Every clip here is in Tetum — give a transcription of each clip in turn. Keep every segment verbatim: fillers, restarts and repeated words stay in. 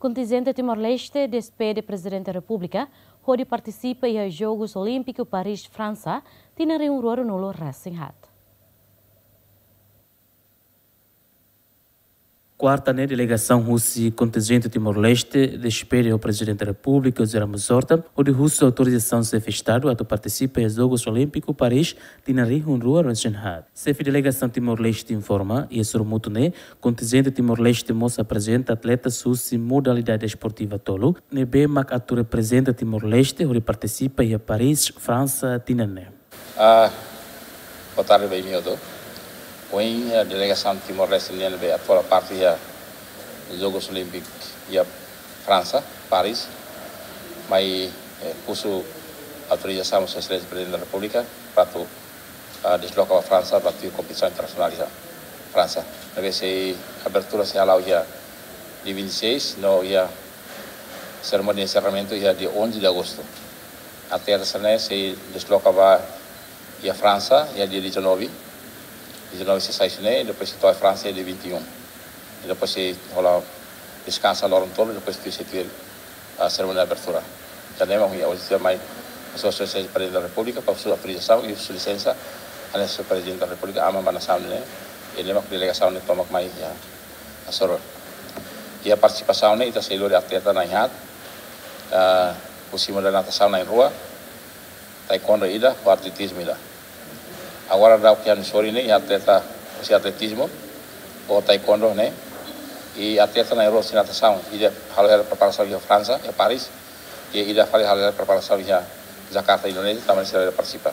Kontinjente Timor-Leste despede Prezidente Repúblika hodi partisipa iha Jogus Olímpiku Paris, Fransa, tinan rihun rua ruanulu resin haat. Kuarta ne'e, delegasaun husi kontinjente Timor-Leste despede ho Prezidente Repúblika José Ramos Horta hodi husu autorizasaun Xefe Estadu atu partisipa iha Jogus Olímpiku Paris tinan rihun rua resin haat. Xefe delegasaun Timor-Leste informa, iha sorumutu ne'e, kontinjente Timor-Leste mós aprezenta atletas husi modalidade desportiva tolu ne'ebé mak atu reprezenta Timor-Leste hodi partisipa iha Paris, Fransa, tinan ne'e. Ah, boa tarde ba imi hotu. Ohin, eh, delegasaun Timor-Leste nian ne'ebé atu hola parte iha Jogus Olímpiku iha Fransa, Paris, mai, eh, husu autorizasaun Sua Exelénsia Prezidente da Repúblika para atu, ah, desloka ba Fransa, para atu kompetisaun internasionál iha Fransa. Ne'ebé sei abertura sei hala'o iha dia vinte e seis, no iha serimónia de enserramentu iha dia onze de agosto. Atleta sira-ne'e sei desloka ba iha Fransa iha dia dezanove, dezanove sei sai husi ne'e, depois sei to'o Fransa iha dia vinte e um. I depois sei hola deskansa loron tolu, depois tuir sei tuir, ah, serimónia de abertura. Entaun ne'e mak ohin, ohin sei mai, Sua Exelénsia Prezidente da Repúblika, para husu autorizasaun i husu lisensa, hanesan Prezidente da Repúblika aman ba nasaun ne'e, i ne'e mak delegasaun ne'e tomak mai iha Asoro. Iha partisipasaun ne'e ita sei lori atleta na'in haat, ah, husi modalidade natasaun na'in rua, taekwondo ida, ho atletizmu ida. Agora daudaun iha Asoro ne'e, iha atleta husi atletizmu, ho taekwondo ne'e, i atleta na'in rua husi natasaun, ida halo hela preparasaun iha Fransa, iha Paris, i ida fali halo hela preparasaun iha Jakarta, Indonézia, tanba sira la partisipa.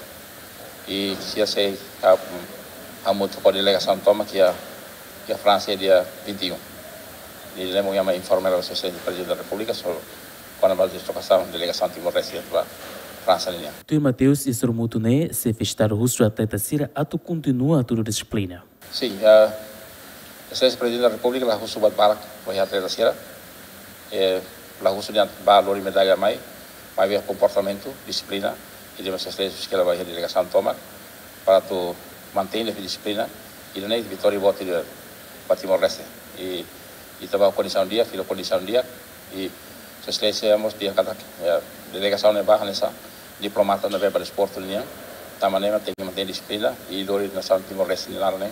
I sira sei, ah, hamutuk ho delegasaun tomak iha, iha Fransa iha dia vinte e um. I ne'e mak ohin ami informa ba Sua Exelénsia Prezidente da Repúblika, so, kona-ba deslokasaun delegasaun Timor-Leste ba Fransa nian. Tuir Mateus, iha sorumutu ne'e, Xefe Estadu husu atleta sira atu kontinua hatudu dixiplina. Sin, eh, Sua Exelénsia Prezidente da Repúblika la husu buat barak ba iha atleta sira. Eh, la husu dehan bá lori medalla mai, maibé komportamentu, dixiplina, i dehan Sua Exelénsia husu kela ba iha delegasaun tomak, para atu mantein dixiplina, i nune'e vitória boot ida ba Timor-Leste. I, i ita bá kondisaun di'ak, fila kondisaun di'ak, i Sua Exelénsia mós dehan katak, ya, delegasaun ne'e bá hanesan diplomata ne'ebé ba desportu nian, tanba ne'e mak tenke mantein dixiplina, i lori nasaun Timor-Leste nia laran ne'e,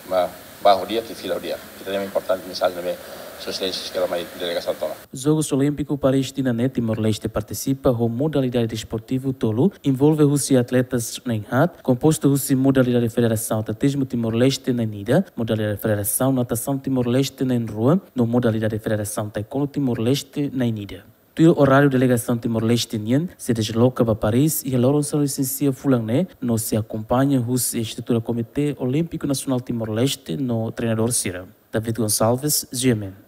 bá, bá ho di'ak i fila ho di'ak. Ida-ne'e importante mensajen ne'ebé Sua Exelénsia husu kela mai delegasaun tomak. Jogus Olímpiku Paris tinan ne'e Timor-Leste partisipa ho modalidade desportivu tolu, envolve husi atletas na'in haat, kompostu husi modalidade Federasaun Atletizmu Timor-Leste na'in ida, modalidade Federasaun Natasaun Timor-Leste na'in rua, no modalidade Federasaun Taekwondo Timor-Leste na'in ida. Tuir oráriu, delegasaun Timor-Leste nian sei desloka ba Paris iha loron sanulu-resin-sia fulan ne'e, no sei akompaña husi estrutura Komité Olímpiku Nasionál Timor-Leste no treinadór sira. David Gonçalves, G M N.